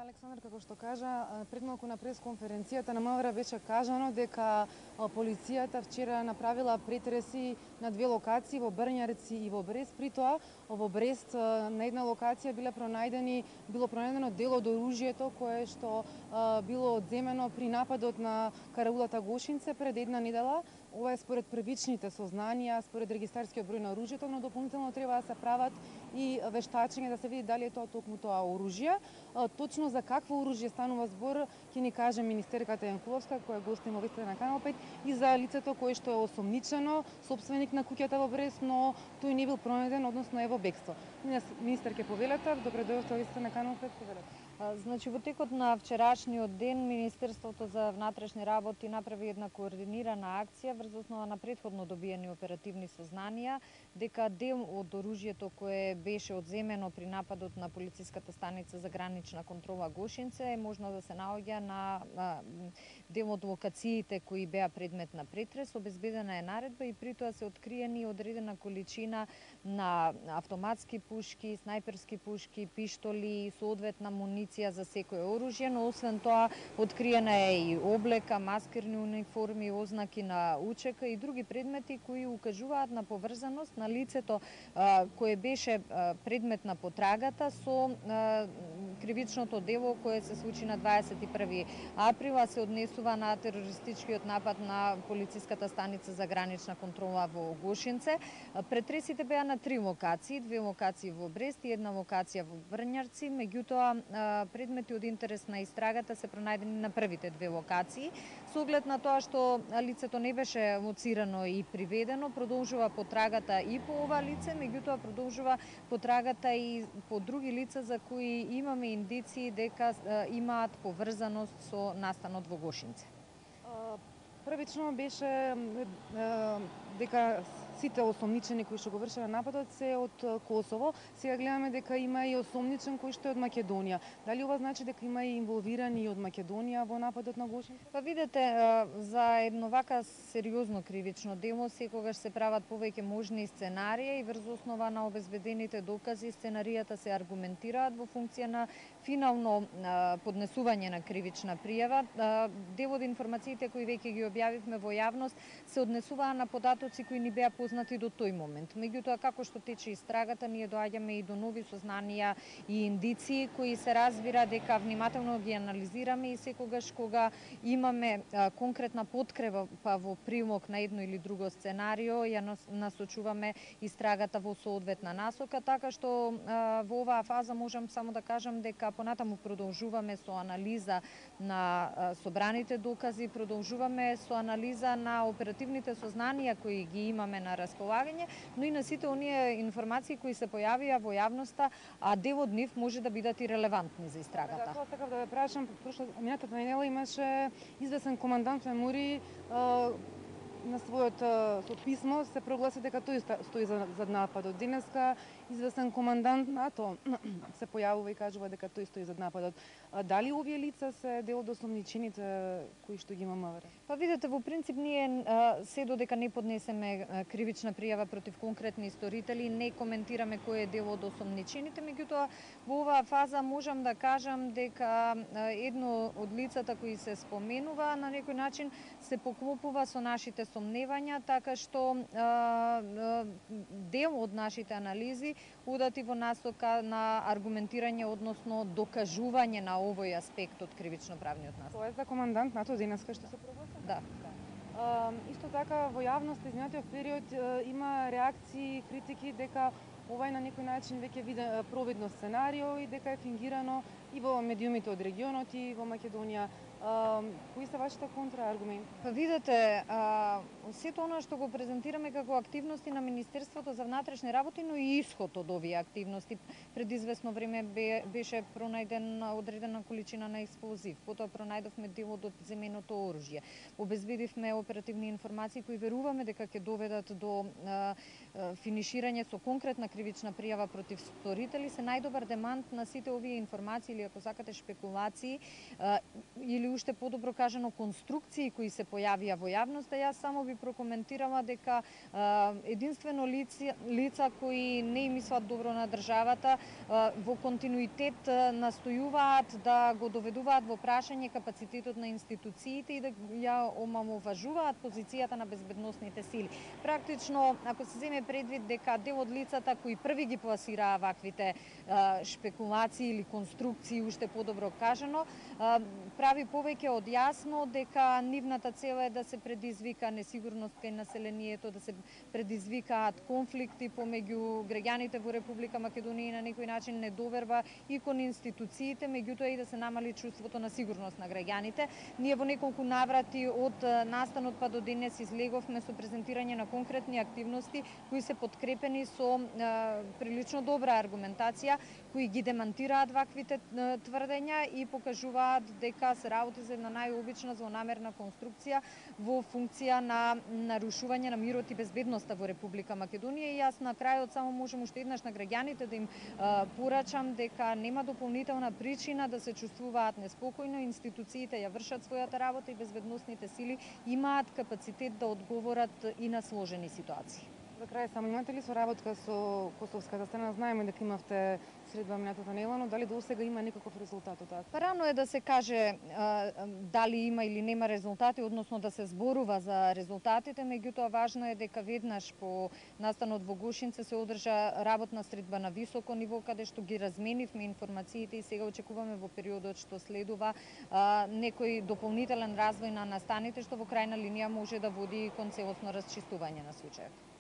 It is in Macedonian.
Александар, како што кажа, пред малку на пресконференцијата на МВР беше кажано дека полицијата вчера направила претреси на две локации во Брњарци и во Брест. При тоа во Брест на една локација било пронајдено дел од оружјето кое што било одземено при нападот на караулата Гошинце пред една недела. Ова е според првичните сознанија, според регистарскиот број на оружјето, но дополнително треба да се прават и вештачење да се види дали е тоа токму тоа оружје. Точно за какво оружје станува збор ќе ни каже министерката Јанкуловска, која гостим во вестите на Канал 5, и за лицето кое што е осомничено, сопственик на куќата во Брест, но тој не бил пронајден, односно е во бегство. Министер ќе повелете, добре дојдовте во вестите на Канал 5, повелете. Значи, во текот на вчерашниот ден Министерството за внатрешни работи направи една координирана акција врз основа на претходно добиени оперативни сознанија дека дел од оружјето кое беше одземено при нападот на полициската станица за гранична контрола Гошинце е можно да се наоѓа на дел од локациите кои беа предмет на претрес. Обезбедена е наредба и при тоа се откриени одредена количина на автоматски пушки, снајперски пушки, пиштоли, соодветна муниција за секое оружје, но освен тоа откриена е и облека, маскерни униформи, ознаки на УЧК и други предмети кои укажуваат на поврзаност на лицето кое беше предмет на потрагата со кривичното дело кое се случи на 21 април, а се однесува на терористичкиот напад на полициската станица за гранична контрола во Гошинце. Претресите беа на 3 локации, 2 локации во Брест и 1 локација во Брњарци, меѓутоа предмети од интерес на истрагата се пронајдени на првите 2 локации. Со оглед на тоа што лицето не беше лоцирано и приведено, продолжува потрагата и по ова лице, меѓутоа продолжува потрагата и по други лица за кои имаме индиции дека имаат поврзаност со настанот во Гошинце. Првично беше дека сите осомничени кои што го вршеле нападот се од Косово. Сега гледаме дека има и осомничен кој што е од Македонија. Дали ова значи дека има и инволвирани од Македонија во нападот на Гошинце? Па видете, за едно вака сериозно кривично дело секогаш се прават повеќе можни сценарии и врз основа на обезбедените докази сценаријата се аргументираат во функција на финално поднесување на кривична пријава. Дел од информациите кои веќе ги објавивме во јавност се однесуваа на податоци кои ни беа познати до тој момент. Меѓутоа, како што тече истрагата, ние доаѓаме и до нови сознанија и индиции кои се разбира дека внимателно ги анализираме и секогаш кога имаме конкретна подкрепа во прилог на едно или друго сценарио, ја насочуваме истрагата во соодветна насока, така што во оваа фаза можам само да кажам дека понатаму продолжуваме со анализа на собраните докази, продолжуваме со анализа на оперативните сознанија кои ги имаме на располагање, но и на сите оние информации кои се појавија во јавноста, а дел од нив може да бидат и релевантни за истрагата. Тоа сакав да ве прашам, минатата недела имаше известен командант Мемури на своето писмо се прогласи дека тој стои за нападот. Денеска известен командант НАТО се појавува и кажува дека тој стои за нападот. Дали овие лица се дел од осомничените кои што ги има МВР? Па видете, во принцип ние се додека не поднесеме кривична пријава против конкретни исторители, не коментираме кој е дел од осомничените, меѓутоа во оваа фаза можам да кажам дека едно од лицата кои се споменува на некој начин се поклопува со нашите сомневања, така што дел од нашите анализи удати во насока на аргументирање, односно докажување на овој аспект од кривично-правниот насока. Тоа е за командант НАТО денеска што се прогласи? Да. Исто така во јавноста изминатиот период има реакции, критики дека ова е на некој начин веќе провидно сценарио и дека е фингирано и во медиумите од регионот и во Македонија. Кои се вашите контрааргументи? Па видете, сето она што го презентираме како активности на Министерството за внатрешни работи, но и исход од овие активности. Пред известно време беше пронајден одредена количина на експлозив, потоа пронајдовме дел од земеното оружје. Обезбедивме оперативни информации кои веруваме дека ќе доведат до финиширање со конкретна кривична пријава против сторители. Се најдобар демант на сите овие информации или ако сакате шпекулации или уште подобро кажано конструкции кои се појавија во јавноста. Јас само би прокоментирала дека единствено лица кои не им мислат добро на државата во континуитет настојуваат да го доведуваат во прашање капацитетот на институциите и да ја омаловажуваат позицијата на безбедносните сили. Практично, ако се земе предвид дека дел од лицата кои први ги пласираа ваквите шпекулации или конструкции, уште подобро кажано, прави повеќе од јасно дека нивната цел е да се предизвика несигурност кај населението, да се предизвикаат конфликти помеѓу граѓаните во Република Македонија и на некој начин недоверба и кон институциите, меѓутоа и да се намали чувството на сигурност на граѓаните. Ние во неколку наврати од настанот па до денес излеговме со презентирање на конкретни активности кои се подкрепени со прилично добра аргументација, кои ги демантираат ваквите тврдења и покажуваат дека се работи за една најобична злонамерна конструкција во функција на нарушување на мирот и безбедноста во Република Македонија. И јас на крајот само можам уште еднаш на граѓаните да им порачам дека нема дополнителна причина да се чувствуваат неспокојно, институциите ја вршат својата работа и безбедносните сили имаат капацитет да одговорат и на сложени ситуации. За крај само, имате ли соработка со косовската страна? Знаеме дека имавте средба минатата недела, но дали до сега има некаков резултат од тоа? Рано е да се каже дали има или нема резултати, односно да се зборува за резултатите, меѓутоа важно е дека веднаш по настанот во Гошинце се одржа работна средба на високо ниво, каде што ги разменивме информациите и сега очекуваме во периодот што следува некој дополнителен развој на настаните, што во крајна линија може да води кон целосно расчистување на случајот.